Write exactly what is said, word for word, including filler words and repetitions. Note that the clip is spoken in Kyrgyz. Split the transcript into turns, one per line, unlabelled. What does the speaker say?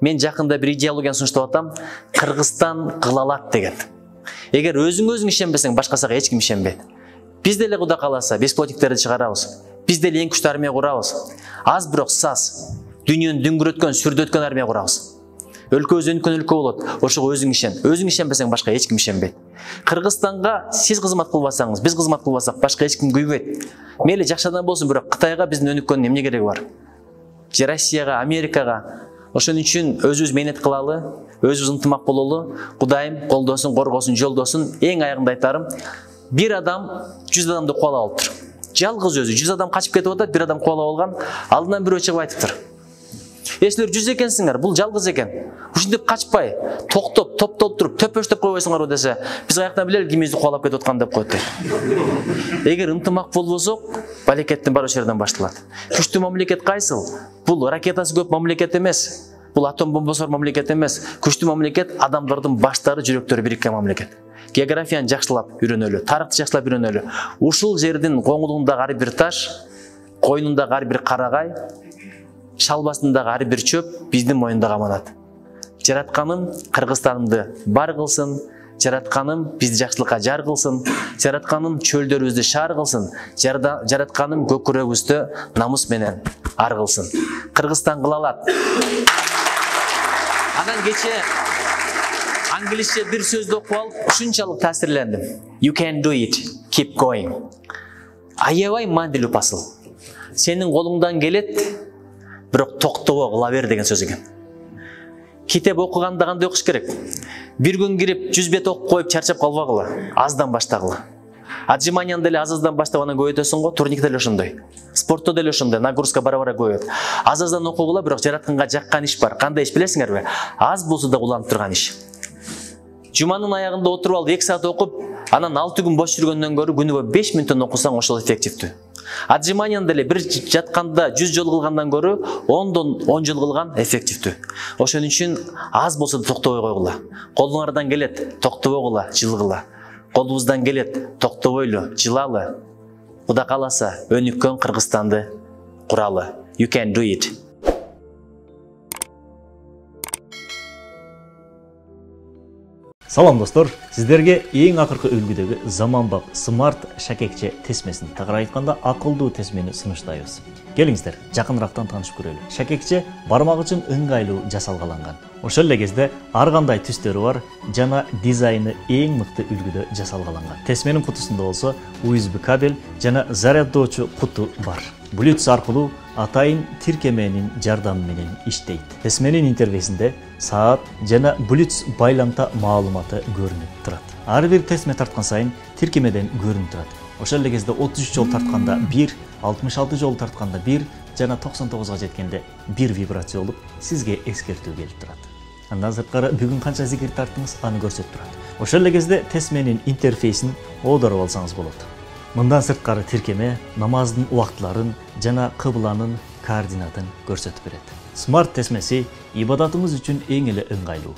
Мен жакында бир идеологияны сунуштап атам, Кыргызстан кыла алат деген. Эгер өзүң өзүң ишенбесең, башкасына эч ким ишенбейт. Биз деле Кудай кааласа бесплотниктерди чыгарабыз. Биз деле эң күчтүү армия курабыз. Аз бирок саз, дүйнөнү дүңгүрөткөн, сүрдөткөн армия курабыз. Өлкөбүз өнүккөн өлкө болот. Ошого өзүң ишен. Өзүң ишенбесең, башка эч ким ишенбейт. Кыргызстанга сиз кызмат кылбасаңыз, биз кызмат кылбасак, башка эч ким күйбөйт. Мейли жакшы адам болсун, бирок Кытайга биздин өнүккөндүн эмне кереги бар? Же Россияга, Америкага. Ошон үчүн өзүбүз мээнет кылалы, өзүбүз ынтымак бололу. Кудайым колдосун, коргосун, жолдосун. Эң аягында айтарым, бир адам жүз адамды кубалап алыптыр. Жалгыз өзү жүз адам качып кетип атат, бир адам кубалап алган, алдынан бирөө чыгып айтыптыр. Е, силер жүз экенсиңер, бул жалгыз экен. Ушинтип качпай, токтоп, топтолуп туруп, төпөштөп койбойсуңарбы десе, биз каяктан билели кимибизди кубалап кетип аткан деп коет. Эгер ынтымак болбосок, балекеттин баары ошол жерден башталат. Күчтүү мамлекет кайсыл? Бул ракетасы көп мамлекет эмес. Бул атом бомбасы бар мамлекет эмес. Күчтүү мамлекет адамдардын баштары, жүрөктөрү бириккен мамлекет. Географияны жакшылап үйрөнөлү, тарыхты жакшылап үйрөнөлү. Ушул жердин коңулундагы ар бир таш, койнундагы ар бир карагай, шалбасындагы ар бир чөп биздин моюндагы аманат. Жаратканым Кыргызстанымды бар кылсын, жаратканым бизди жакшылыкка жар кылсын, жаратканым чөлдөрүбүздү шаар кылсын, жаратканым көкүрөгүбүздү намыс менен ар кылсын. Кыргызстан кыла алат. Анан кече англисче бир сөздү окуп алып, ушунчалык таасирлендим. You can do it. Keep going. Аябай мандилүү посыл. Сенин колуңдан келет, бирок токтобой кыла бер деген сөз экен. Китеп окуганда кандай окуш керек? Бир күн кирип жүз бет окуп коюп чарчап калбагыла, аздан баштагыла. Отжиманияны деле аз-аздан баштап анан көбөйтөсүң го, турник деле ошондой. Спортто деле ошондой, нагрузка бара-бара көбөйөт. Аз-аздан окугула, бирок жаратканга жаккан иш бар. Кандай иш билесиңерби? Аз болсо да уланып турган иш. Жуманын аягында отуруп алып эки саат окуп, анан алты күн бош жүргөндөн көрө күнүгө беш мүнөттөн окусаң ошол эффективдүү. Отжиманияны деле бир жатканда жүз жол кылгандан көрө ондон он жол кылган эффективдүү. Ошон үчүн аз болсо да токтобой койгула. Колуңардан келет, токтобойгула, жылгыла. Колубуздан келет, токтобойлу, жылалы. Кудай кааласа, өнүккөн Кыргызстанды куралы. You can do it.
Салам достор, сиздерге эң акыркы үлгүдөгү заманбап смарт шакекче тесмесин, тагыраак айтканда акылдуу тесмени сунуштайбыз. Келиңиздер, жакыныраактан таанышып көрөлү. Шакекче бармак үчүн ыңгайлуу жасалгаланган. Ошол эле кезде ар кандай түстөрү бар жана дизайны эң мыкты үлгүдө жасалгаланган. Тесменин кутусунда болсо ю эс би кабель жана заряддоочу куту бар. Bluetooth аркылуу атайын тиркеменин жардамы менен иштейт. Тесменин интерфейсинде саат жана Bluetooth байламта маалыматы көрүнүп турат. Ар бир тесме тарткан сайын тиркемеден көрүнүп турат. Ошол эле кезде отуз үч жол тартканда бир, алтымыш алты жол тартканда бир жана токсон тогузга жеткенде бир вибрация болуп, сизге эскертүү келип турат. Андан сырткары бүгүн канча зикир тарттыңыз, аны көрсөтүп турат. Ошол эле кезде тесменин интерфейсин оодарып алсаңыз болот. Мындан сырткары тиркеме намаздын убактыларын жана кыбланын координатын көрсөтүп берет. Смарт тесмеси ибадатыңыз үчүн эң эле ыңгайлуу.